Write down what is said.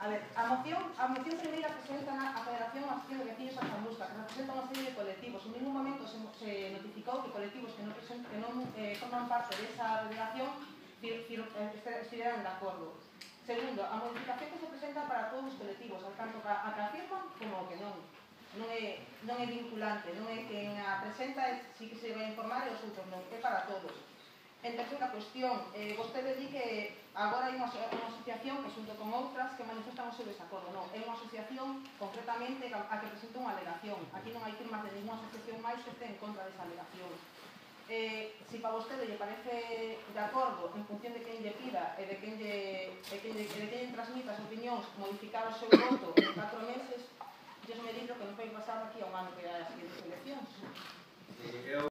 A ver, a moción primeira presenta a Federación Asociación de Veciños da Chamusca, que representa unha serie de colectivos. En ningún momento se notificou que colectivos que non forman parte desa delegación estiveran de acordo. Segundo, a modificación que se presenta para todos os colectivos, tanto a que afirman como que non. Non é vinculante, non é quen a presenta, si que se vai informar e os outros non, é para todos. En terceira cuestión, vostede di que agora hai unha asociación que xunto con outras que manifestan o seu desacordo. Non, é unha asociación concretamente a que presenta unha alegación. Aquí non hai firmas de ninguna asociación máis que este en contra desa alegación. Se para vostede lle parece de acordo en función de quen lle pida e de quen lle transmita as opinións modificar o seu voto en 4 meses, Dios me libro que non pode pasar aquí a un ano que hai as seguintes eleccións.